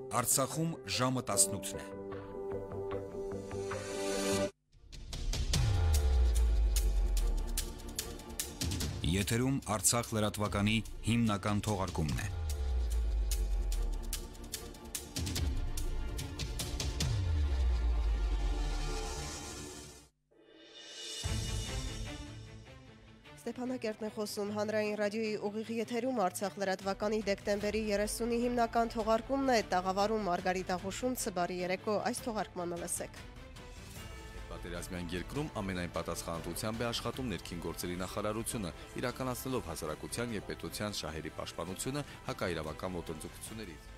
Արցախում ժամը 18-ն է։ Եթերում Արցախ լրատվականի հիմնական թողարկումն է։ Ստեփանակերտն է խոսում հանրային ռադիոյի ուղիղ եթերում Արցախ լրատվականի դեկտեմբերի 30-ի հիմնական թողարկումն է, տաղավարում Մարգարիտ Աղուշունցը, բարի երեկո, այս թողարկմանը լսեք։ Պատերազմյան երկրում ամենայն պատասխանատվությամբ է աշխատում ներքին գործերի նախարարությունը, իրականացնելով հասարակության եւ պետության շահերի պաշտպանությունը հակաիրավական ոտնձգություններից։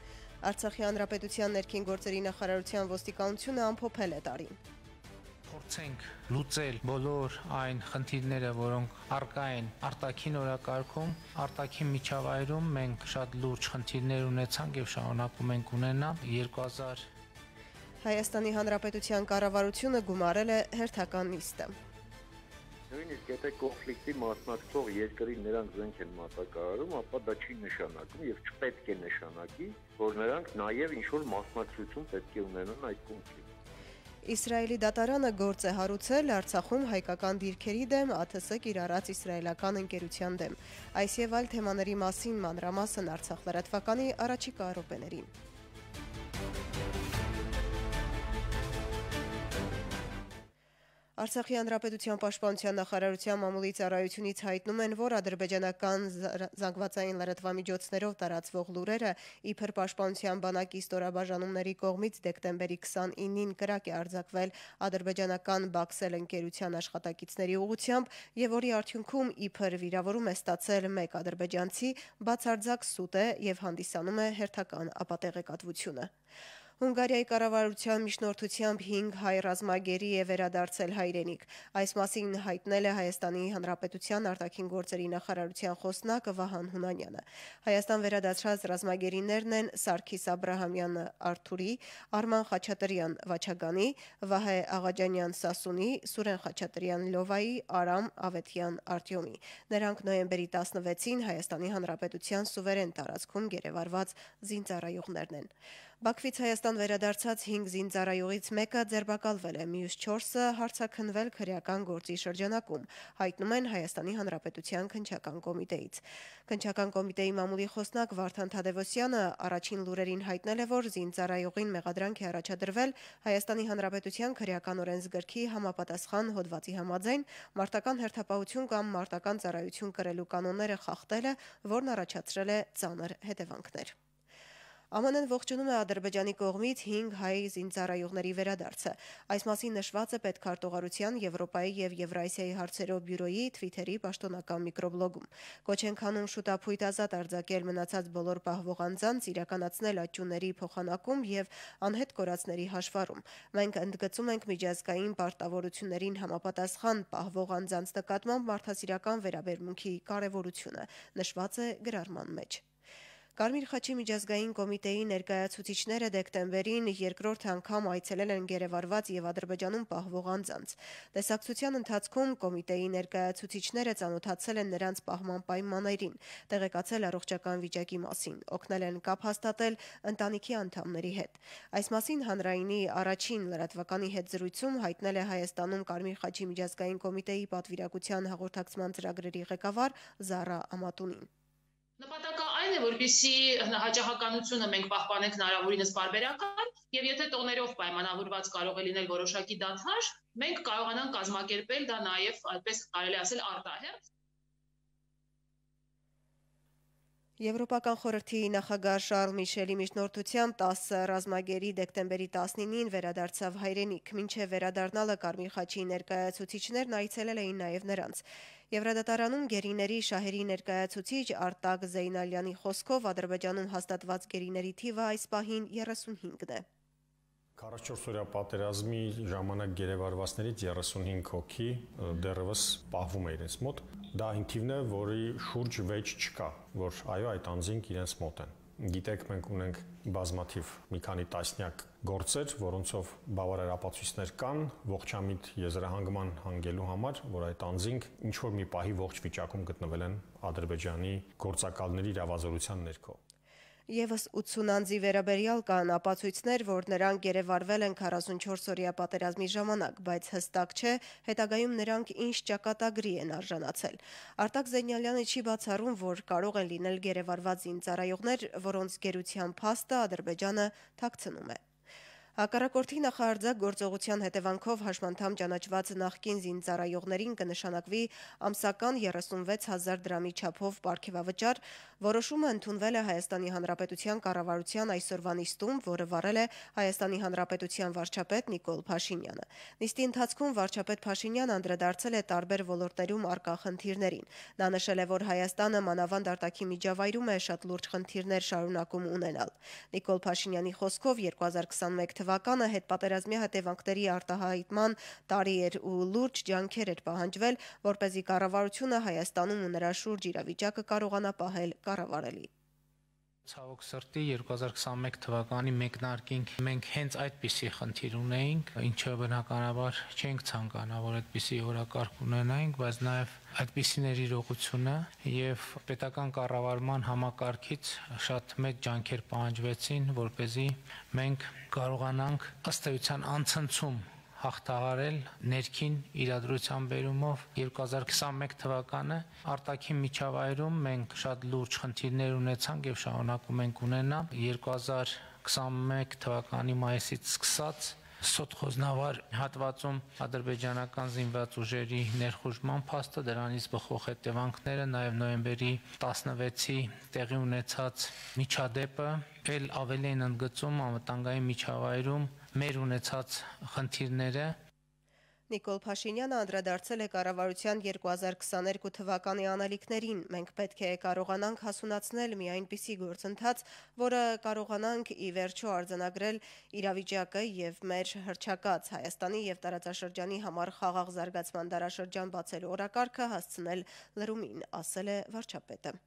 Արցախի հանրապետության ներքին գործերի նախարարության ոստիկանությունը ամփոփել է տարին։ Փորձենք լուծել բոլոր այն խնդիրները, որոնք առկա են արտաքին օրակարգում, արտաքին միջավայրում մենք շատ լուրջ խնդիրներ ունեցանք եւ շարունակում ենք ունենալ 2000 Հայաստանի Հանրապետության կառավարությունը գումարել է հերթական նիստը։ Նույնիսկ եթե կոնֆլիկտի մասնակցող երկրի նրանք զենք են մատակարարում, ապա դա չի նշանակում եւ չպետք է նշանակի, որ նրանք նաեւ ինչ-որ մասնակցություն պետք է ունենան այդ կոնֆլիկտին։ Իսրայելի դատարանը գործ է հարուցել Արցախում հայկական դիրքերի դեմ ԱԹՍ կիրառած իսրայելական ընկերության դեմ։ Այս եւ այլ թեմաների մասին մանրամասն Արցախ լրատվականի առաջիկա րոպեներին։ Արցախի հանրապետության պաշտպանության նախարարության մամուլի ծառայությունից հայտնում են, որ ադրբեջանական զանգվածային լրատվամիջոցներով տարածվող լուրերը իբր պաշտպանության բանակի ստորաբաժանումների կողմից դեկտեմբերի 29-ին կրակ է արձակվել ադրբեջանական Բաքսել ընկերության աշխատակիցների ուղղությամբ եւ որի արդյունքում իբր վիրավորում է ստացել մեկ ադրբեջանցի, բացարձակ սուտ է եւ հանդիսանում է հերթական ապատեղեկատվությունը։ Հունգարիայի կառավարության միջնորդությամբ 5 հայ ռազմագերի է վերադարձել հայրենիք։ Այս մասին հայտնել է Հայաստանի Հանրապետության արտաքին գործերի նախարարության խոսնակ Վահան Հունանյանը։ Հայաստան վերադարձած ռազմագերիներն են Սարգիս Աբրահամյանը Արթուրի, Արման Խաչատրյան Վաչագանի, Վահե Աղաջանյան Սասունի, Սուրեն Խաչատրյան Լովայի, Արամ Ավետյան Արտյոմի։ Նրանք նոյեմբերի 16-ին Հայաստանի Հանրապետության սուվերեն տարածքում գերեվարված զինծառայողներն են։ Բաքվից Հայաստան վերադարձած 5 զինծառայողից մեկը ձերբակալվել է, մյուս 4-ը հարցաքննվել քրեական գործի շրջանակում, հայտնում են Հայաստանի Հանրապետության քննչական կոմիտեից։ Քննչական կոմիտեի մամուլի խոսնակ Վարդան Թադևոսյանը առաջին լուրերին հայտնել է, որ զինծառայողին մեղադրանք է առաջադրվել Հայաստանի Հանրապետության քրեական օրենսգրքի համապատասխան հոդվածի համաձայն մարտական հերթապահություն կամ մարտական ծառայություն կրելու կանոնները խախտելը, որն առաջացրել է ծանր հետևանքներ։ ԱՄՆ-ն ողջունում է Ադրբեջանի կողմից 5 հայ զինծառայողների վերադարձը։ Այս մասին նշված է Պետքարտուղարության Եվրոպայի եւ Եվրասիայի հարցերով բյուրոյի Twitter-ի պաշտոնական միկրոբլոգում։ Կոչ են քանում շուտափույթ ազատ արձակել մնացած բոլոր պահվող անձանց, իրականացնել աճյունների փոխանակում եւ անհետ կորածների հաշվառում։ Մենք ընդգծում ենք միջազգային պարտավորություններին համապատասխան պահվող անձանց նկատմամբ մարդասիրական վերաբերմունքի կարեւորությունը, նշված է գրառման մեջ։ Կարմիր խաչի միջազգային կոմիտեի ներկայացուցիչները դեկտեմբերին երկրորդ անգամ այցելել են գերեվարված եւ Ադրբեջանում պահվող անձանց։ Տեսակցության ընթացքում կոմիտեի ներկայացուցիչները ծանոթացել են նրանց պահման պայմաններին, տեղեկացել առողջական վիճակի մասին, օգնել են կապ հաստատել ընտանիքի անդամների հետ։ Այս մասին հանրայինի առաջին լրատվականի հետ զրույցում հայտնել է Հայաստանում Կարմիր խաչի միջազգային կոմիտեի պատվիրակության հաղորդակցման ծրագրերի ղեկավար Զարա Ամատունին։ Նպատակը այն է, որպեսզի հաճախականությունը մենք պահպանենք հնարավորինս պարբերական, եւ եթե տոներով պայմանավորված կարող է լինել որոշակի դադար, մենք կարողանանք կազմակերպել դա նաեւ, այդպես կարելի ասել, արտահերթ։ Եվրոպական խորհրդի նախագահ Շարլ Միշելի միջնորդությամբ 10 ռազմագերի դեկտեմբերի 19-ին վերադարձավ հայրենիք։ Մինչև վերադառնալը Կարմիր խաչի ներկայացուցիչներն այցելել էին նաև նրանց։ Եվրադատարանում գերիների շահերի ներկայացուցիչ Արտակ Զեյնալյանի խոսքով Ադրբեջանում հաստատված գերիների թիվը այս պահին 35-ն է։ 44-օրյա պատերազմի ժամանակ գերեվարվածներից 35 հոգի դեռևս պահվում է իրենց մոտ։ Դա այն թիվն է, որի շուրջ վեճ չկա, որ այո, այդ անձինք իրենց մոտ են։ Գիտեք, մենք ունենք բազմաթիվ մի քանի տասնյակ գործեր, որոնցով բավարար ապացույցներ կան ողջամիտ եզրահանգման հանգելու համար, որ այդ անձինք ինչ որ մի պահի ողջ վիճակում գտնվել են Ադրբեջանի գործակալների իրավազորության ներքո։ Եվս 80 անձի վերաբերյալ կան ապացույցներ, որ նրանք գերեվարվել են 44-օրյա պատերազմի ժամանակ, բայց հստակ չէ հետագայում նրանք ինչ ճակատագրի են արժանացել։ Արտակ Զենյալյանը չի բացառում, որ կարող են լինել գերեվարված զինծառայողներ, որոնց գերության փաստը Ադրբեջանը թաքցնում է։ Հակառակորդի նախարարձակ գործողության հետևանքով հաշմանդամ ճանաչված նախկին զինծառայողներին կնշանակվի ամսական 36,000 դրամի չափով պարգևավճար, որոշումը ընդունվել է Հայաստանի Հանրապետության կառավարության այսօրվա նիստում, որը վարել է Հայաստանի Հանրապետության վարչապետ Նիկոլ Փաշինյանը։ Նիստի ընթացքում վարչապետ Փաշինյանը անդրադարձել է տարբեր ոլորտներում առկա խնդիրներին։ Նա նշել է, որ Հայաստանը մանավանդ արտաքին միջավայրում է շատ լուրջ խնդիրներ շարունակում ունենալ։ Նիկոլ Փաշինյանի խոսքով 2021 թվականը հետպատերազմի հետևանքների արտահայտման տարի էր ու լուրջ ջանքեր էր պահանջվել, որպեսզի կառավարությունը Հայաստանում ու նրա շուրջ իրավիճակը կարողանա պահել կառավարելի։ Ցավոք սրտի 2021 թվականի մեկնարկին մենք հենց այդպիսի խնդիր ունեինք, ինչը բնականաբար չենք ցանկանա, որ այդպիսի օրակարգ ունենայինք, բայց նաև այդպիսիների իրողությունը եւ պետական կառավարման համակարգից շատ մեծ ջանքեր պահանջվեցին, որպեսզի մենք կարողանանք ըստ էության անցնցում հաղթահարել ներքին իրադրության բերումով 2021 թվականը արտաքին միջավայրում մենք շատ լուրջ խնդիրներ ունեցանք եւ շարունակում ենք ունենալ 2021 թվականի մայիսից սկսած Սոտխոզնավար հատվածում ադրբեջանական զինված ուժերի ներխուժման փաստը, դրանից բխող հետևանքները, նաև նոյեմբերի 16-ի տեղի ունեցած միջադեպը էլ ավելի են ընդգծում անվտանգային միջավայրում մեր ունեցած խնդիրները։ Նիկոլ Փաշինյանը անդրադարձել է կառավարության 2022 թվականի անելիքներին։ Մենք պետք է կարողանանք հասունացնել մի այնպիսի գործընթաց, որը կարողանանք ի վերջո արձանագրել իրավիճակը եւ մեր հռչակած Հայաստանի եւ տարածաշրջանի համար խաղաղ զարգացման դարաշրջան բացելու օրակարգը հասցնել լրումին, ասել է վարչապետը։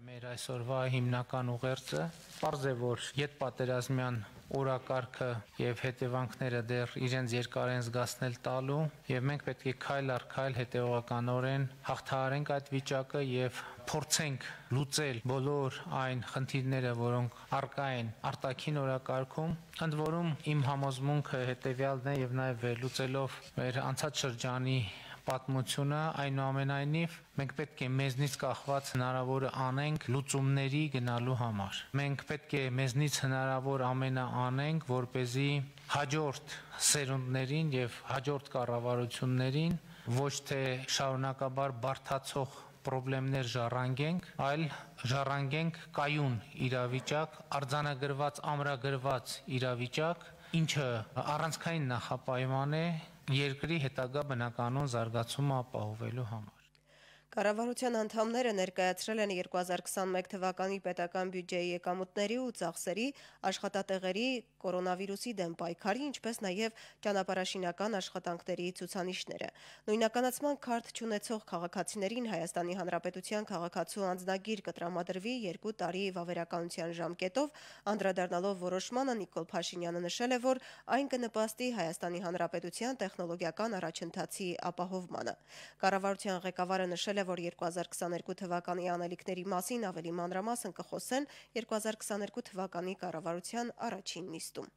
Մեր այսօրվա հիմնական ուղերձը պարզ է, որ յետպատերազմյան օրակարգը եւ հետևանքները դեռ իրենց երկար են զգացնել տալու եւ մենք պետք է քայլ առ քայլ հետեւականորեն հաղթահարենք այդ վիճակը եւ փորձենք լուծել բոլոր այն խնդիրները, որոնք առկա են արտաքին օրակարգում, ընդ որում իմ համոզմունքը հետեւյալն է եւ նաեւ վերլուծելով մեր անցած շրջանի պատմությունը, այնուամենայնիվ մենք պետք է մեզնից կախված հնարավորը անենք լուծումների գնալու համար։ Մենք պետք է մեզնից հնարավոր ամենը անենք, որպեսզի հաջորդ սերունդներին եւ հաջորդ կառավարություններին ոչ թե շարունակաբար բարդացող պրոբլեմներ ժառանգենք, այլ ժառանգենք կայուն իրավիճակ, արձանագրված, ամրագրված իրավիճակ, ինչը առանցքային նախապայման է երկրի հետագա բնականոն զարգացումը ապահովելու համար։ Կառավարության անդամները ներկայացրել են 2021 թվականի պետական բյուջեի եկամուտների ու ծախսերի, աշխատատեղերի, կորոնավիրուսի դեմ պայքարի, ինչպես նաև ճանապարհաշինական աշխատանքների ցուցանիշները։ Նույնականացման քարտ չունեցող քաղաքացիներին Հայաստանի Հանրապետության քաղաքացու անձնագիր կտրամադրվի 2 տարի վավերականության ժամկետով, անդրադառնալով որոշմանը Նիկոլ Փաշինյանը նշել է, որ այն կնպաստի Հայաստանի Հանրապետության տեխնոլոգիական առաջընթացի ապահովմանը։ Կառավարության ղեկավարը նշել է, որ 2022 թվականի անելիքների մասին ավելի մանրամասն կխոսեն 2022 թվականի կառավարության առաջին նիստում։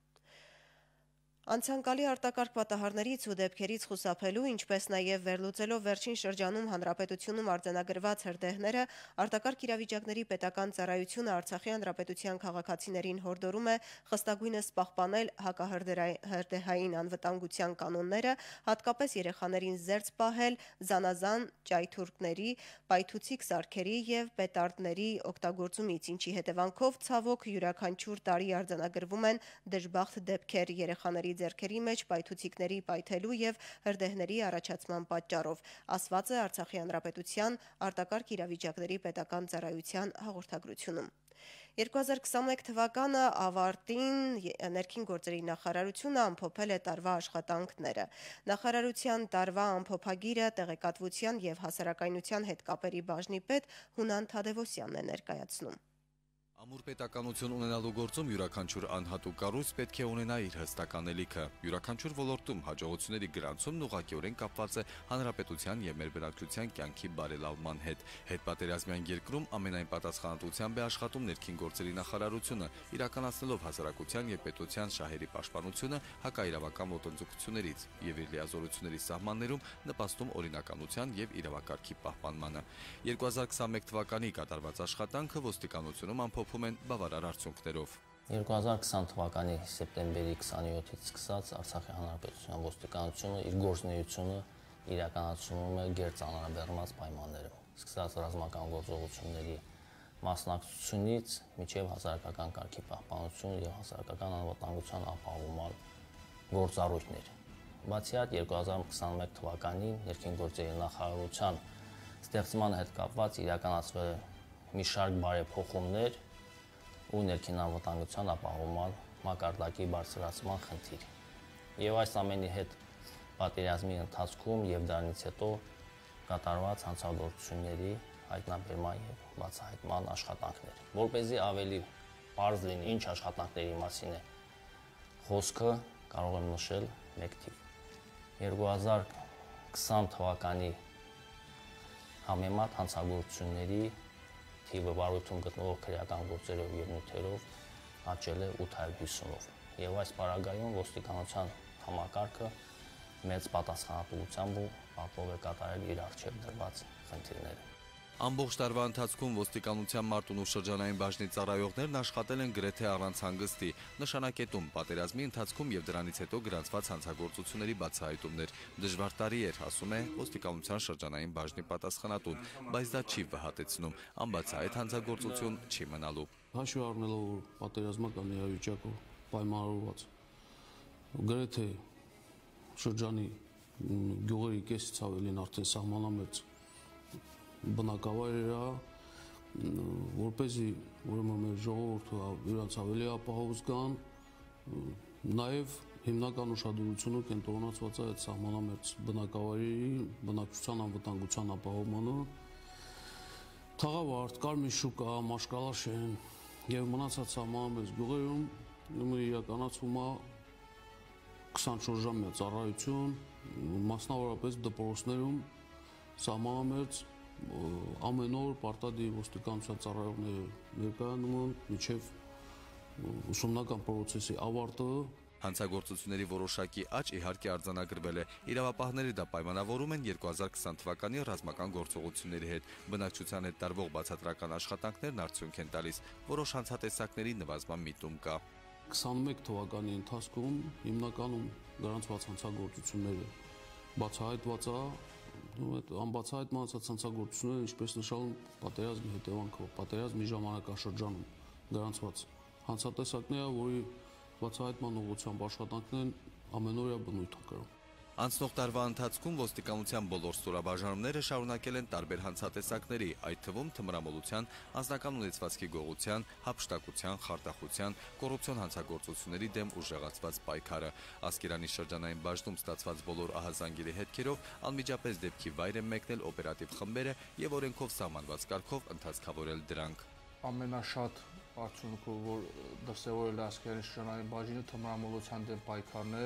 Անցանկալի արտակարգ պատահարներից ու դեպքերից խուսափելու, ինչպես նաև վերլուծելով վերջին շրջանում հանրապետությունում արձանագրված հրդեհները, արտակարգ իրավիճակների պետական ծառայությունը Արցախի հանրապետության քաղաքացիներին հորդորում է խստագույնս պահպանել հակահրդեհային անվտանգության կանոնները, հատկապես երեխաներին զերծ պահել զանազան ճայթուրքների, պայթուցիկ սարքերի եւ պետարդների օգտագործումից, ինչի հետևանքով ցավոք յուրաքանչյուր տարի արձանագրվում են դժբախտ դեպքեր երեխաների ձեռքերի մեջ պայթուցիկների պայթելու եւ հրդեհների առաջացման պատճառով, ասված է Արցախի հանրապետության արտակարգ իրավիճակների պետական ծառայության հաղորդագրությունում։ 2021 թվականը ավարտին ներքին գործերի նախարարությունը ամփոփել է տարվա աշխատանքները։ Նախարարության տարվա ամփոփագիրը տեղեկատվության եւ հասարակայնության հետ կապերի բաժնի պետ Հունան Թադևոսյանն է ներկայացնում։ Ամուր պետականություն ունենալու գործում յուրաքանչյուր անհատուկ կառույց պետք է ունենա իր հստակ անելիքը։ Յուրաքանչյուր ոլորտում հաջողությունների գրանցումն ուղղակիորեն կապված է հանրապետության եւ մեր բնակչության կյանքի բարելավման հետ։ Հետպատերազմյան երկրում ամենայն պատասխանատվությամբ է աշխատում ներքին գործերի նախարարությունը, իրականացնելով հասարակության եւ պետության շահերի պաշտպանությունը հակաիրավական ոտնձգություններից եւ իր լիազորությունների սահմաններում նպաստում օրինականության եւ իրավակարգի պահպանմանը։ 2021 թվականի կատարված աշխատանքը ոստիկանությունում ամփոփում են բավարար արդյունքներով։ 2020 թվականի սեպտեմբերի 27-ից սկսած Արցախի հանրապետության ոստիկանությունը իր գործունեությունը իրականացնում է գերծանրաբեռնված պայմաններում, սկսած ռազմական գործողությունների մասնակցությունից մինչև հասարակական կարգի պահպանություն եւ հասարակական անվտանգության ապահովման գործառույթներ։ Բացի այդ 2021 թվականին ներքին գործերի նախարարության ստեղծման հետ կապված իրականացվել մի շարք բարեփոխումներ ու ներքին անվտանգության ապահովման մակարդակի բարձրացման խնդիր։ Եվ այս ամենի հետ պատերազմի ընթացքում եւ դրանից հետո կատարված հանցագործությունների հայտնաբերման եւ բացահայտման աշխատանքներ։ Որպեսզի ավելի բարձ լինի ինչ աշխատանքների մասին է խոսքը, կարող եմ նշել մեկ թիվ։ 2020 թվականի համեմատ հանցագործությունների թիվը վարույթում գտնվող քրեական գործերով եւ նյութերով աճել է 850-ով։ Եվ այս պարագայում ոստիկանության համակարգը մեծ պատասխանատվությամբ ու ապով է կատարել իր առջև դրված խնդիրները։ Ամբողջ տարվա ընթացքում ոստիկանության Մարտունու շրջանային բաժնի ծառայողներն աշխատել են գրեթե առանց հանգստի, նշանակետում պատերազմի ընթացքում եւ դրանից հետո գրանցված հանցագործությունների բացահայտումներ։ Դժվար տարի էր, ասում է ոստիկանության շրջանային բաժնի պատասխանատուն, բայց դա չի վհատեցնում, անբացահայտ հանցագործություն չի մնալու։ Հաշվի առնելով, որ պատերազմական իրավիճակով պայմանավորված գրեթե շրջանի գյուղերի կեսից ավելին արդեն սահմանամերձ բնակավայրերը, որպեսզի ուրեմն մեր ժողովուրդը իրենց ավելի ապահով զգան, նաև հիմնական ուշադրությունը կենտրոնացված է այդ սահմանամերձ բնակավայրերի բնակչության անվտանգության ապահովմանը, Թաղավարտ, Կարմիր շուկա, Մաշկալաշեն եւ մնացած սահմանամերձ գյուղերում իրականացվում է 24-ժամյա ծառայություն, մասնավորապես դպրոցներում սահմանամերձ ամեն օր պարտադիր ոստիկանության ծառայողները ներկայանում են մինչև ուսումնական պրոցեսի ավարտը։ Հանցագործությունների որոշակի աճ իհարկե արձանագրվել է։ Իրավապահները դա պայմանավորում են 2020 թվականի ռազմական գործողությունների հետ։ Բնակչության հետ տարվող բացատրական աշխատանքներն արդյունք են տալիս, որոշ հանցատեսակների նվազման միտում կա։ 21 թվականի ընթացքում հիմնականում գրանցված հանցագործությունները բացահայտված է, այդ անբացահայտ մնացած հանցագործությունները, ինչպես նշել պատերազմի հետևանքով, պատերազմի ժամանակաշրջանում գրանցված հանցատեսակները, որի բացահայտման ուղղությամբ աշխատանքներն ամենօրյա բնույթ են կրում։ Անցնող տարվա ընթացքում ոստիկանության բոլոր ստորաբաժանումները շարունակել են տարբեր հանցատեսակների, այդ թվում թմրամոլության, անձնական ունեցվածքի գողության, հափշտակության, խարտախության, կոռուպցիոն հանցագործությունների դեմ ուժեղացված պայքարը։ Ասկերանի շրջանային բաժնում ստացված բոլոր ահազանգերի հետքերով անմիջապես դեպքի վայր են մեկնել օպերատիվ խմբերը եւ օրենքով սահմանված կարգով ընթացքավորել դրանք։ Ամենաշատ արդյունքը, որ դրսևորել է Ասկերանի շրջանային բաժինը, թմրամոլության դեմ պայքարն է,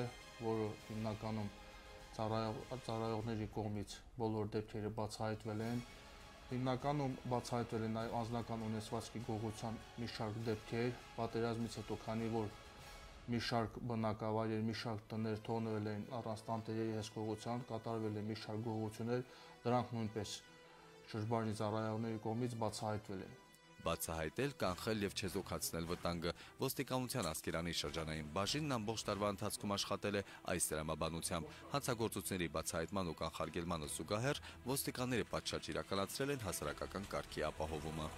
որը հիմնականում ծառայողների կողմից բոլոր դեպքերը բացահայտվել են։ Հիմնականում բացահայտվել են նաև անձնական ունեցվածքի գողության մի շարք դեպքեր, պատերազմից հետո, քանի որ մի շարք բնակավայրեր, մի շարք տներ թողնվել են առանց տանտերերի հսկողության, կատարվել են մի շարք գողություններ, դրանք նույնպես շրջանի ծառայողների կողմից բացահայտվել են։ Բացահայտել, կանխել եւ չեզոքացնել վտանգը։ Ոստիկանության Ասկերանի շրջանային բաժինն ամբողջ տարվա ընթացքում աշխատել է այս դրամաբանությամբ։ Հանցագործությունների բացահայտման ու կանխարգելմանը զուգահեռ ոստիկանները պատշաճ իրականացրել են հասարակական կարգի ապահովումը։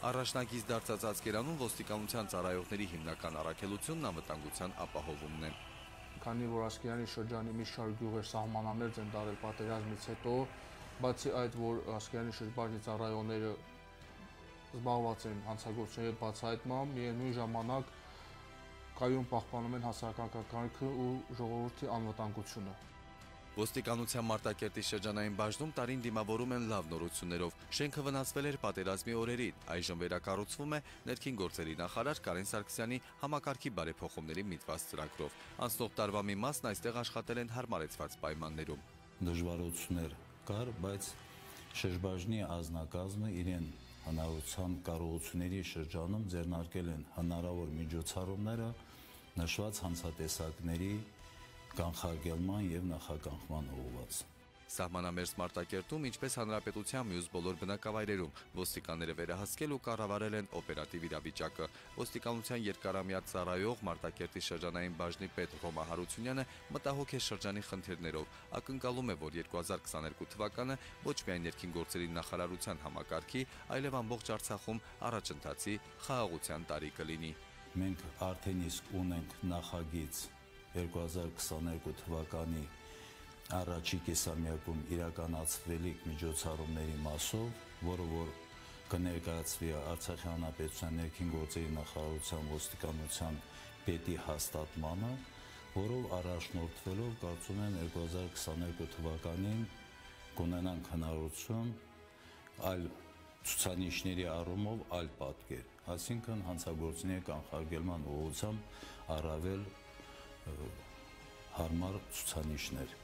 Առաջնակից դարձած Ասկերանում ոստիկանության ծառայողների հիմնական առաքելությունն անվտանգության ապահովումն է։ Քանի որ Ասկերանի շրջանի մի շարք գյուղեր սահմանամերձ են դարել պատերազմից հետո, բացի այդ, որ Ասկերանի շրջանի ծառայողները զբաղված են հանցագործությունների բացահայտմամբ, միևնույն ժամանակ կայուն պահպանում են հասարակական կարգը ու ժողովրդի անվտանգությունը։ Ոստիկանության Մարտակերտի շրջանային բաժնում տարին դիմավորում են լավ նորություններով։ Շենքը վնասվել էր պատերազմի օրերին, այժմ վերակառուցվում է ներքին գործերի նախարար Կարեն Սարգսյանի համակարգի բարեփոխումների միտված ծրագրով։ Անցնող տարվա մի մասն այստեղ աշխատել են հարմարեցված պայմաններում։ Դժվարություններ կար, բայց շրջբաժնի ազնագազմը իրեն հնարավորության կարողությունների շրջանում ձեռնարկել են հնարավոր միջոցառումները նշված հանցատեսակների կանխարգելման եւ նախականխման ուղղված։ Սահմանամերձ Մարտակերտում, ինչպես հանրապետության մյուս բոլոր բնակավայրերում, ոստիկանները վերահսկել ու կառավարել են օպերատիվ իրավիճակը։ Ոստիկանության երկարամյա ծառայող Մարտակերտի շրջանային բաժնի պետ Ռոմա Հարությունյանը մտահոգ է շրջանի խնդիրներով, ակնկալում է, որ 2022 թվականը ոչ միայն ներքին գործերի նախարարության համակարգի, այլև ամբողջ Արցախում առաջընթացի խաղաղության տարի կլինի։ Մենք արդեն իսկ ունենք նախագիծ 2022 թվականի առաջի կեսամյակում իրականացվելիք միջոցառումների մասով, որը որ կներկայացվի Արցախի հանրապետության ներքին գործերի նախարարության ոստիկանության պետի հաստատմանը, որով առաջնորդվելով կարծում եմ 2022 թվականին կունենանք հնարավորություն այլ ցուցանիշների առումով այլ պատկեր, այսինքն հանցագործների կանխարգելման ուղղությամբ առավել հարմար ցուցանիշներ։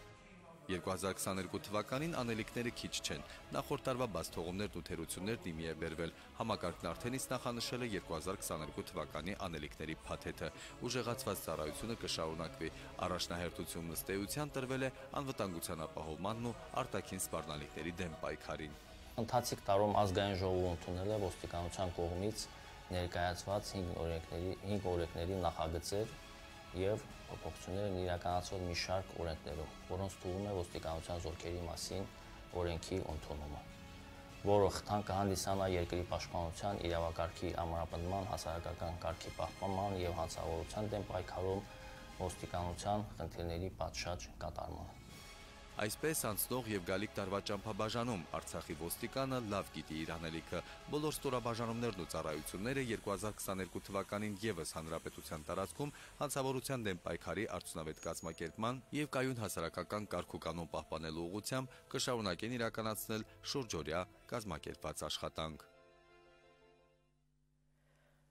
2022 թվականին անելիքները քիչ չեն։ Նախորդ տարվա բաց թողումներն ու թերություններն իմի է բերվել։ Համակարգն արդեն իսկ նախանշել է 2022 թվականի անելիքների փաթեթը։ Ուժեղացված ծառայությունը կշարունակվի։ Առաջնահերթությունն ըստ էության տրվել է անվտանգության ապահովմանն ու արտաքին սպառնալիքների դեմ պայքարին։ Ընթացիկ տարում ազգային ժողովը ընդունել է ոստիկանության կողմից ներկայացված 5 օրենքների նախագծեր եւ փոփոխություններ են իրականացվել մի շարք օրենքներով, որոնց թվում է ոստիկանության զորքերի մասին օրենքի ընդունումը, որը խթան կհանդիսանա երկրի պաշտպանության, իրավակարգի ամրապնդման, հասարակական կարգի պահպանման եւ հանցավորության դեմ պայքարում ոստիկանության խնդիրների պատշաճ կատարմանը։ Այսպես անցնող եւ գալիք տարվա ճամփաբաժանում Արցախի ոստիկանը լավ գիտի իր անելիքը։ Բոլոր ստորաբաժանումներն ու ծառայությունները 2022 թվականին եւս հանրապետության տարածքում հանցավորության դեմ պայքարի արդյունավետ կազմակերպման եւ կայուն հասարակական կարգ ու կանոն պահպանելու ուղղությամբ կշարունակեն իրականացնել շուրջօրյա կազմակերպված աշխատանք։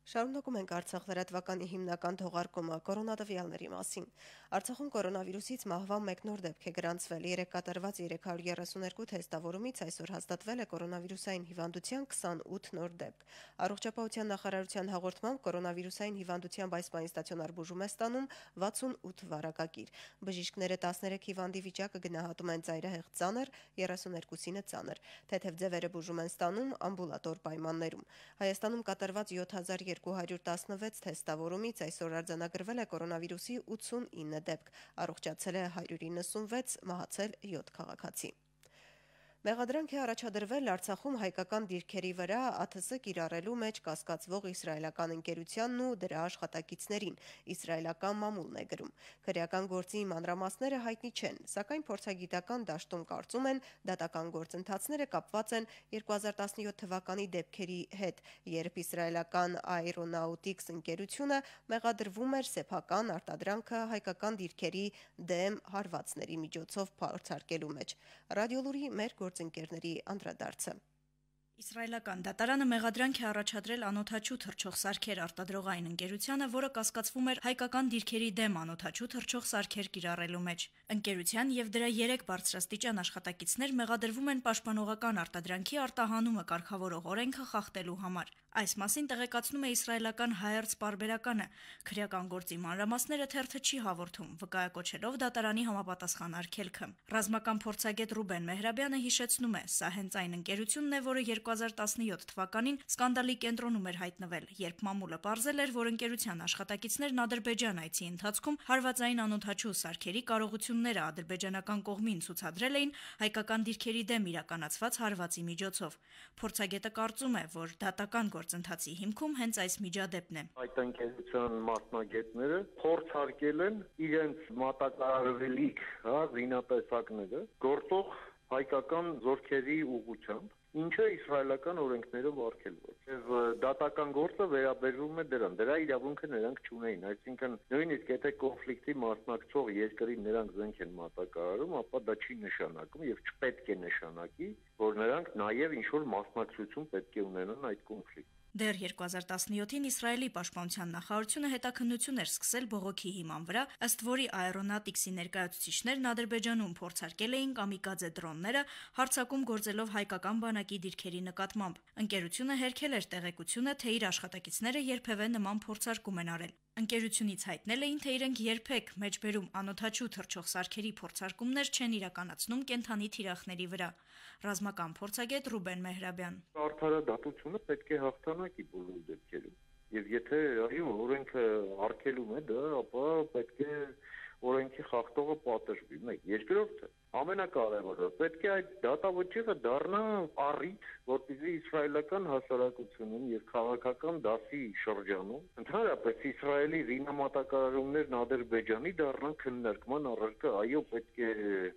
Շարունակում ենք Արցախ լրատվականի հիմնական թողարկումը կորոնատվյալների մասին։ Արցախում կորոնավիրուսից մահվան մեկ նոր դեպք է գրանցվել։ 3 կատարված 332 թեստավորումից այսօր հաստատվել է կորոնավիրուսային հիվանդության 28 նոր դեպք։ Առողջապահության նախարարության հաղորդմամբ կորոնավիրուսային հիվանդությամբ այս պահին ստացիոնար բուժում է ստանում 68 վարակագիր։ Բժիշկները 13 հիվանդի վիճակը գնահատում են ծայրահեղ ծանր, 32-ը ծանր։ Թեթև ձևերը բուժում են ստանում ամբուլատոր պայմաններում։ Հայաստանում կատարված 7216 թեստավորումից այսօր արձանագրվել է կորոնավիրուսի 89 դեպք, առողջացել է 196, մահացել 7 քաղաքացի։ Մեղադրանք է առաջադրվել Արցախում հայկական դիրքերի վրա ԱԹՍ կիրառելու մեջ կասկածվող իսրայելական ընկերությանն ու դրա աշխատակիցներին, իսրայելական մամուլն է գրում։ Քրեական գործի մանրամասները հայտնի չեն, սակայն փորձագիտական դաշտում կարծում են դատական գործընթացները կապված են 2017 թվականի դեպքերի հետ, երբ իսրայելական Aeronautics ընկերությունը մեղադրվում էր սեփական արտադրանքը հայկական դիրքերի դեմ հարվածների միջոցով փորձարկելու մեջ։ Ռադիոլուրի մեր գործընկերների անդրադարձը։ Իսրայելական դատարանը մեղադրանք է առաջադրել անօթաչու թռչող սարքեր արտադրողային ընկերությանը, որը կասկածվում էր հայկական դիրքերի դեմ անօթաչու թռչող սարքեր կիրառելու մեջ։ Ընկերության եւ դրա 3 բարձրաստիճան աշխատակիցներ մեղադրվում են պաշտպանողական արտադրանքի արտահանումը կարգավորող օրենքը խախտելու համար։ Այս մասին տեղեկացնում է իսրայելական Հայերց պարբերականը։ Քրեական գործի մանրամասները թերթը չի հաղորդում, վկայակոչելով դատարանի համապատասխան արգելքը։ Ռազմական փորձագետ Ռուբեն Մեհրաբյանը հիշեցնում է, սա հենց այն ընկերությունն է, որը 2017 թվականին սկանդալի կենտրոնում էր հայտնվել, երբ մամուլը պարզել էր, որ ընկերության աշխատակիցներն Ադրբեջան այցի ընթացքում հարվածային անօթաչու սարքերի կարողությունները ադրբեջանական կողմին ցուցադրել էին հայկական դիրքերի դեմ իրականացված հարվածի միջոցով։ Փորձագետը կարծում է, որ դատական գործընթացի հիմքում հենց այս միջադեպն է։ Այդ ընկերության մասնագետները փորձարկել են իրենց մատակարարվելիք, զինատեսակները գործող հայկական զորքերի ուղղությամբ ինչը իսրայելական օրենքներով արգելված։ Եվ դատական գործը վերաբերում է դրան։ Դրա իրավունքը նրանք չունեին, այսինքն նույնիսկ եթե կոնֆլիկտի մասնակցող երկրի նրանք զենք են մատակարարում, ապա դա չի նշանակում եւ չպետք է նշանակի, որ նրանք նաեւ ինչ-որ մասնակցություն պետք է ունենան այդ կոնֆլիկտին։ Դեռ 2017-ին Իսրայելի պաշտպանության նախարարությունը հետաքննություն էր սկսել բողոքի հիման վրա, ըստ որի Aeronautics-ի ներկայացուցիչներն Ադրբեջանում փորձարկել էին կամիկաձե դրոնները, հարձակում գործելով հայկական բանակի դիրքերի նկատմամբ։ Ընկերությունը հերքել էր տեղեկությունը, թե իր աշխատակիցները երբևէ նման փորձարկում են արել։ Ընկերությունից հայտնել էին, թե իրենք երբեք մեջբերում անօդաչու թռչող սարքերի փորձարկումներ չեն իրականացնում կենդանի թիրախների վրա։ Ռազմական փորձագետ Ռուբեն Մեհրաբյան։ Արդարադատությունը պետք է հաղթանակի բոլոր դեպքերում։ Եվ եթե այո օրենքը արգելում է դա, ապա պետք է օրենքի խախտողը պատժվի։ Մեկ, երկրորդը ամենակարևորը պետք է այդ դատավճիռը դառնա առիթ, որպեսզի իսրայելական հասարակությունում եւ քաղաքական դասի շրջանում ընդհանրապես Իսրայելի զինամատակարարումներն Ադրբեջանի դառնան քննարկման առարկա, այո, պետք է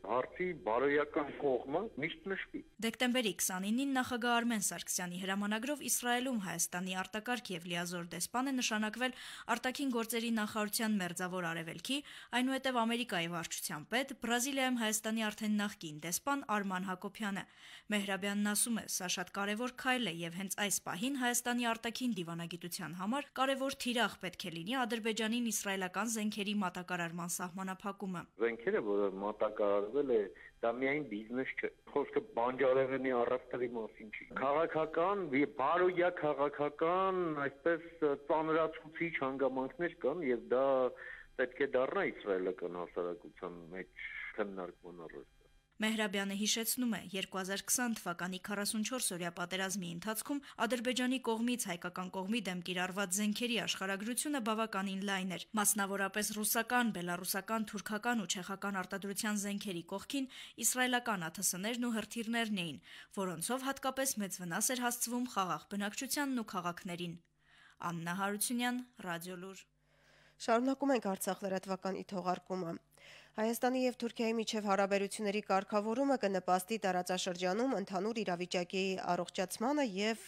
հարցի բարոյական կողմը միշտ նշվի։ Դեկտեմբերի 29-ին նախագահ Արմեն Սարգսյանի հրամանագրով Իսրայելում Հայաստանի արտակարգ եւ լիազոր դեսպան է նշանակվել արտաքին գործերի նախարարության մերձավոր արևելքի, այնուհետև Ամերիկայի վարչության պետ, Բրազիլիայում Հայաստանի արդեն նախկին դեսպան Արման Հակոբյանը։ Մեհրաբյանն ասում է, սա շատ կարևոր քայլ է եւ հենց այս պահին Հայաստանի արտաքին դիվանագիտության համար կարևոր թիրախ պետք է լինի Ադրբեջանին իսրայելական զենքերի մատակարարման սահմանափակումը։ Զենքերը, որը մատակարարվել է, դա միայն բիզնես չէ։ Խոսքը բանջարեղենի առևտրի մասին չի։ Քաղաքական, բարոյա քաղաքական, այսպես ծանրացուցիչ հանգամանքներ կան եւ դա պետք է դառնա իսրայելական հասարակության մեջ քննարկման առարկա։ Մեհրաբյանը հիշեցնում է, 2020 թվականի 44-օրյա պատերազմի ընթացքում Ադրբեջանի կողմից հայկական կողմի դեմ կիրառված զենքերի աշխարհագրությունը բավականին լայն էր։ Մասնավորապես ռուսական, բելառուսական, թուրքական ու չեխական արտադրության զենքերի կողքին իսրայելական ԱԹՍ-ներն ու հրթիռներն էին, որոնցով հատկապես մեծ վնաս էր հասցվում խաղաղ բնակչությանն ու քաղաքներին։ Աննա Հարությունյան, Ռադիոլուր։ Շարունակում ենք Արցախ լրատվականի թողարկումը։ Հայաստանի եւ Թուրքիայի միջև հարաբերությունների կարգավորումը կնպաստի տարածաշրջանում ընդհանուր իրավիճակի առողջացմանը եւ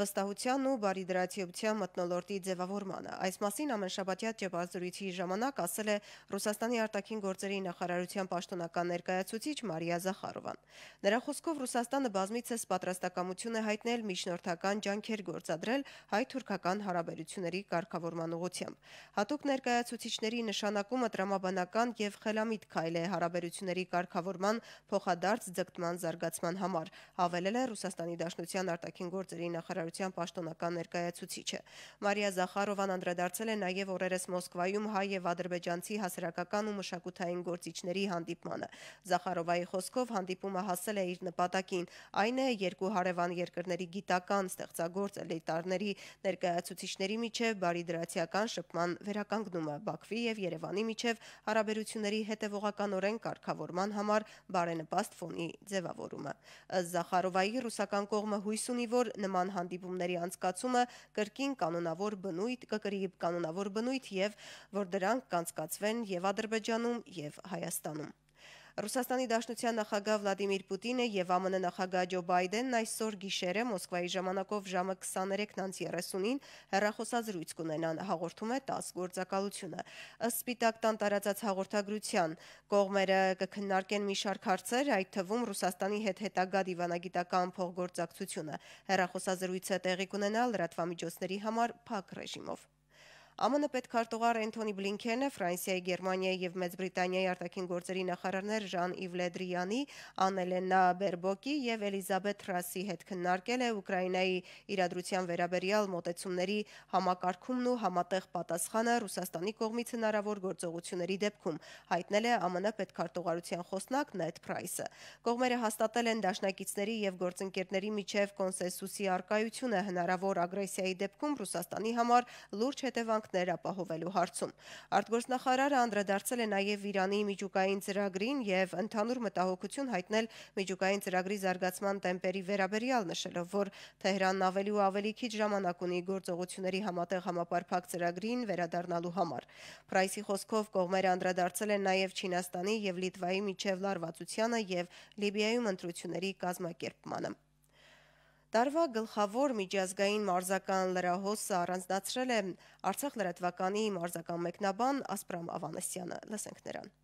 վստահության ու բարիդրացիության մթնոլորտի ձևավորմանը։ Այս մասին ամենշաբաթյա ճեպազրույցի ժամանակ ասել է Ռուսաստանի արտաքին գործերի նախարարության պաշտոնական ներկայացուցիչ Մարիա Զախարովան։ Նրա խոսքով Ռուսաստանը բազմիցս պատրաստակամություն է հայտնել միջնորդական ջանքեր գործադրել հայ-թուրքական հարաբերությունների կարգավորման ուղղությամբ։ Հատուկ ներկայացուցիչների նշանակումը տրամաբանական եւ խելամիտ քայլ է հարաբերությունների կարգավորման փոխադարձ ձգտման զարգացման համար, հավելել է Ռուսաստանի Դաշնության արտաքին գործերի նախարարության պաշտոնական ներկայացուցիչը։ Մարիա Զախարովան անդրադարձել է նաև օրերս Մոսկվայում հայ եւ ադրբեջանցի հասարակական ու մշակութային գործիչների հանդիպմանը։ Զախարովայի խոսքով հանդիպումը հասել է իր նպատակին, այն է երկու հարևան երկրների գիտական ստեղծագործ էլիտարների ներկայացուցիչների միջև բարիդրացիական շփման վերականգնումը, Բաքվի եւ Երևանի միջև հարաբերությունների հետևողականորեն կարգավորման համար բարենպաստ ֆոնի ձևավորումը։ Ըստ Զախարովայի ռուսական կողմը հույս ունի, որ նման հանդիպումների անցկացումը կրկին կանոնավոր բնույթ եւ որ դրանք կանցկացվեն եւ Ադրբեջանում եւ Հայաստանում։ Ռուսաստանի Դաշնության նախագահ Վլադիմիր Պուտինը եւ ԱՄՆ նախագահ Ջո Բայդենն այսօր գիշերը Մոսկվայի ժամանակով ժամը 23:30-ին հեռախոսազրույց կունենան, հաղորդում է ՏԱՍՍ գործակալությունը։ Ըստ Սպիտակ տան տարածած հաղորդագրության, կողմերը կքննարկեն մի շարք հարցեր, այդ թվում Ռուսաստանի հետ հետագա դիվանագիտական փոխգործակցությունը։ Հեռախոսազրույցը տեղի կունենա լրատվամիջոցների համար փակ ռեժիմով։ ԱՄՆ պետքարտուղար Էնթոնի Բլինքենը Ֆրանսիայի, Գերմանիայի եւ Մեծ Բրիտանիայի արտաքին գործերի նախարարներ Ժան-Իվ Լե Դրիանի, Աննելենա Բերբոկի եւ Էլիզաբեթ Թրասի հետ քննարկել է Ուկրաինայի իրադրության վերաբերյալ մոտեցումների համակարգումն ու համատեղ պատասխանը Ռուսաստանի կողմից հնարավոր գործողությունների դեպքում, հայտնել է ԱՄՆ պետքարտուղարության խոսնակ Նեդ Փրայսը։ Կողմերը հաստատել են դաշնակիցների եւ գործընկերների միջև կոնսենսուսի արկայությունը հնարավոր ագրեսիայի դեպքում Ռուսաստանի համար լուրջ հետևանք ապահովելու հարցում։ Արտգործնախարարը անդրադարձել է նաև Իրանի միջուկային ծրագրին եւ ընդհանուր մտահոգություն հայտնել միջուկային ծրագրի զարգացման տեմպերի վերաբերյալ, նշելով, որ Թեհրանն ավելի ու ավելի քիչ ժամանակ ունի գործողությունների համատեղ համապարփակ ծրագրին վերադառնալու համար։ Փրայսի խոսքով կողմերը անդրադարձել են նաև Չինաստանի եւ Լիտվայի միջև լարվածությանը եւ Լիբիայում ընտրությունների կազմակերպմանը։ Տարվա գլխավոր միջազգային մարզական լրահոսը առանձնացրել է Արցախ լրատվականի մարզական մեկնաբան Ասպրամ Ավանեսյանը։ Լսենք նրան։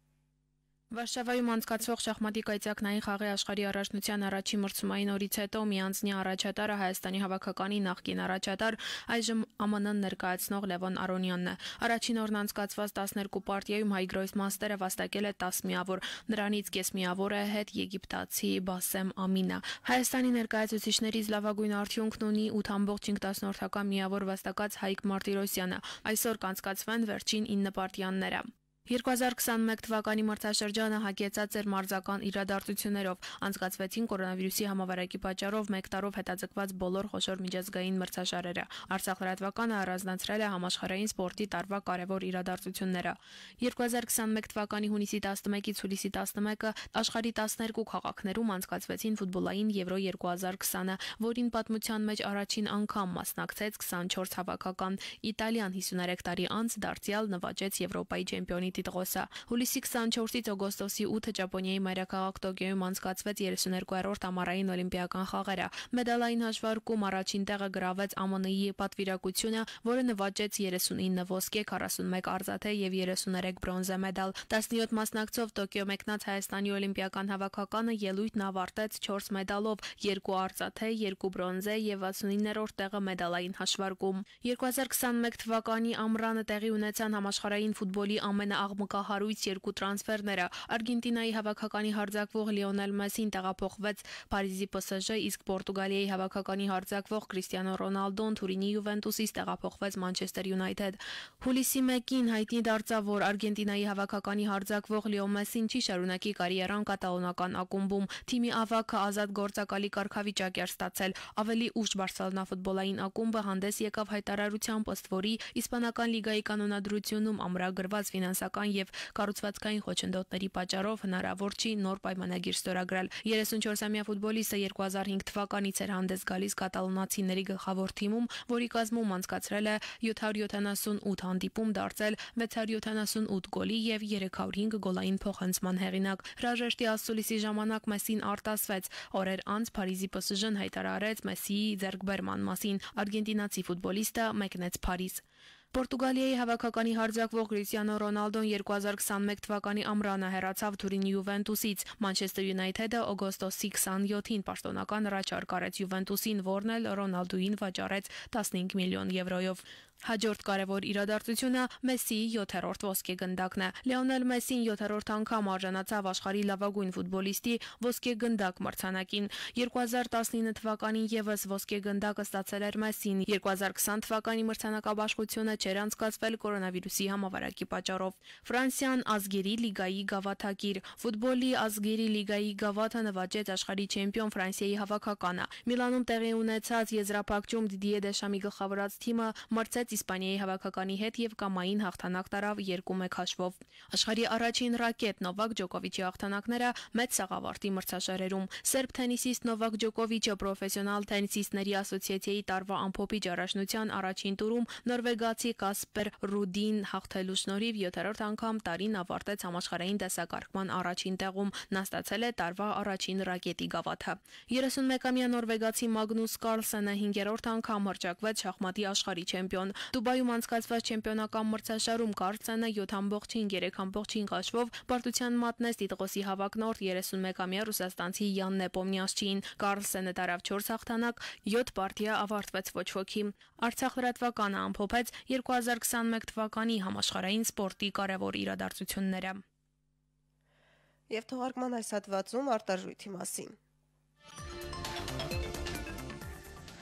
Վարշավայում անցկացվող շախմատի կայծակնային խաղի աշխարհի առաջնության առաջին մրցումային օրից հետո միանձնյա առաջատարը Հայաստանի հավաքականի նախկին առաջատար, այժմ ԱՄՆ ներկայացնող Լևոն Արոնյանն է։ Առաջին օրն անցկացված 12 պարտիայում հայ գրոսմաստերը վաստակել է 10 միավոր, նրանից կես միավոր է հետ եգիպտացի Բասեմ Ամինը։ Հայաստանի ներկայացուցիչներից լավագույն արդյունքն ունի 8.5 միավոր վաստակած Հայկ Մարտիրոսյանը։ Այսօր կանցկացվեն վերջին 9 պարտիաները։ 2021 թվականի մրցաշրջանը հագեցած էր մարզական իրադարձություններով, անցկացվեցին կորոնավիրուսի համավարակի պատճառով մեկ տարով հետաձգված բոլոր խոշոր միջազգային մրցաշարերը։ Արցախ լրատվականը առանձնացրել է համաշխարհային սպորտի տարվա կարևոր իրադարձությունները։ 2021 թվականի հունիսի 11-ից հուլիսի 11-ը աշխարհի 12 քաղաքներում անցկացվեցին ֆուտբոլային Եվրո 2020-ը, որին պատմության մեջ առաջին անգամ մասնակցեց 24 հավաքական։ Իտալիան 53 տարի անց դարձյալ նվաճեց Եվրոպայի չեմպիոնի տիտղոսը։ Հուլիսի 24-ից օգոստոսի 8-ը Ճապոնիայի մայրաքաղաք Տոկիոյում անցկացվեց 32-րդ ամառային օլիմպիական խաղերը։ Մեդալային հաշվարկում առաջին տեղը գրավեց ԱՄՆ-ի պատվիրակությունը, որը նվաճեց 39 ոսկե, 41 արծաթե եւ 33 բրոնզե մեդալ։ 17 մասնակցով Տոկիո մեկնած Հայաստանի օլիմպիական հավաքականը ելույթն ավարտեց 4 մեդալով, 2 արծաթե, 2 բրոնզե եւ 69-րդ տեղը մեդալային հաշվարկում։ 2021 թվականի ամռանը տեղի ունեցան համաշխարհային ֆուտբոլի ամենաաղմկահարույց երկու տրանսֆերները։ Արգենտինայի հավաքականի հարձակվող Լիոնել Մեսին տեղափոխվեց Փարիզի PSG, իսկ Պորտուգալիայի հավաքականի հարձակվող Կրիստիանո Ռոնալդոն Թուրինի Յուվենտուսից տեղափոխվեց Մանչեսթեր Յունայթեդ։ Հուլիսի 1-ին հայտնի դարձավ, որ Արգենտինայի հավաքականի հարձակվող Լիո Մեսին չի շարունակի կարիերան կատալոնական ակումբում։ Թիմի ավագը ազատ գործակալի կարգավիճակ էր ստացել։ Ավելի ուշ Բարսելոնա ֆուտբոլային ակումբը հանդես եկավ հայտարարությամբ, ըստ որի իսպանական լիգայի կանոնադրությունում ամրագրված ֆինանսական եւ կառուցվածքային խոչընդոտների պատճառով հնարավոր չի նոր պայմանագիր ստորագրել։ 34-ամյա ֆուտբոլիստը 2005 թվականից էր հանդես գալիս կատալոնացիների գլխավոր թիմում, որի կազմում անցկացրել է 778 հանդիպում, դարձել 678 գոլի եւ 305 գոլային փոխանցման հեղինակ։ Հրաժեշտի ասուլիսի ժամանակ Մեսին արտասվեց։ Օրեր անց Փարիզի PSG-ն հայտարարեց Մեսիի ձեռքբերման մասին։ Արգենտինացի ֆուտբոլիստը մեկնեց Փարիզ։ Պորտուգալիայի հավաքականի հարձակվող Կրիստիանո Ռոնալդոն 2021 թվականի ամռանը հեռացավ Թուրինի Յուվենտուսից։ Մանչեսթեր Յունայթեդը օգոստոսի 27-ին պաշտոնական առաջարկ արեց Յուվենտուսին, որն էլ Ռոնալդուին վաճառեց 15 միլիոն եվրոյով։ Հաջորդ կարևոր իրադարձությունը Մեսիի 7-րդ ոսկե գնդակն է։ Լիոնել Մեսին 7-րդ անգամ արժանացավ աշխարհի լավագույն ֆուտբոլիստի ոսկե գնդակ մրցանակին։ 2019 թվականին եւս ոսկե գնդակը ստացել էր Մեսին։ 2020 թվականի մրցանակաբաշխությունը չէր անցկացվել կորոնավիրուսի համավարակի պատճառով։ Ֆրանսիան ազգերի լիգայի գավաթակիր։ Ֆուտբոլի ազգերի լիգայի գավաթը նվաճեց աշխարհի չեմպիոն Ֆրանսիայի հավաքականը։ Միլանում տեղի ունեցած եզրափակում Դիդիե Դեշամի գլխավորած թիմը մրցեց Իսպանիայի հավաքականի հետ եւ կամային հաղթանակ տարավ 2-1 հաշվով։ Աշխարհի առաջին ռակետ Նովակ Ջոկովիչի հաղթանակները մեծ սաղավարտի մրցաշարերում։ Սերբ թենիսիստ Նովակ Ջոկովիչը պրոֆեսիոնալ թենիսիստների ասոցիացիայի տարվա ամփոփիչ առաջնության առաջին տուրում նորվեգացի Կասպեր Ռուդին հաղթելու շնորհիվ 7-րդ անգամ տարին ավարտեց համաշխարհային դասակարգման առաջին տեղում։ Նա ստացել է տարվա առաջին ռակետի գավաթը։ 31-ամյա նորվեգացի Մագնուս Կարլսենը 5-րդ անգամ հռչակվեց շախմատի աշխարհի չեմպիոն։ Դուբայում անցկացված չեմպիոնական մրցաշարում Կարլսենը 7.5-3.5 հաշվով պարտության մատնեց տիտղոսի հավակնորդ 31-ամյա ռուսաստանցի Յան Նեպոմնյասչիին։ Կարլսենը տարավ 4 հաղթանակ, 7 պարտիա ավարտվեց ոչ ոքի։ Արցախ լրատվականը ամփոփեց 2021 թվականի համաշխարհային սպորտի կարևոր իրադարձությունները։ Եվ թողարկման այս հատվածում արտարժույթի մասին։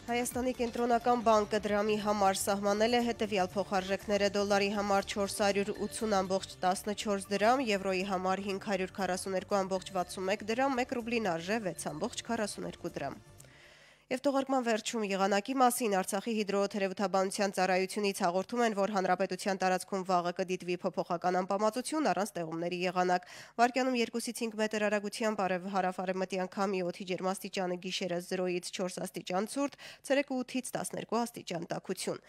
Հայաստանի կենտրոնական բանկը դրամի համար սահմանել է հետևյալ փոխարժեքները՝ դոլարի համար 480.14 դրամ, եվրոյի համար 542.61 դրամ, 1 ռուբլին արժե 6.42 դրամ։ Եվ թողարկման վերջում եղանակի մասին Արցախի հիդրոթերապևտաբանության ծառայությունից հաղորդում են, որ հանրապետության տարածքում վաղը կդիտվի փոփոխական անպամացություն առանց տեղումների եղանակ։ Վարկյանում 2-ից 5 մետր արագությամբ հարավ-արևմտյան քամի օդի ջերմաստիճանը գիշերը 0-ից 4 աստիճան ցուրտ, ցերեկը 8-ից 12 աստիճան տաքություն։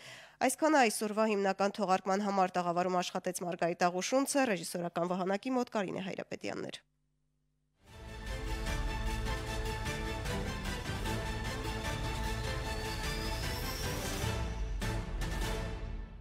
Այսքանը այսօրվա հիմնական թողարկման համար տաղավարում աշխատեց Մարգարիտ Աղուշունցը, ռեժիսորական վահանակի մոտ Կարինե Հայրապետյանն էր։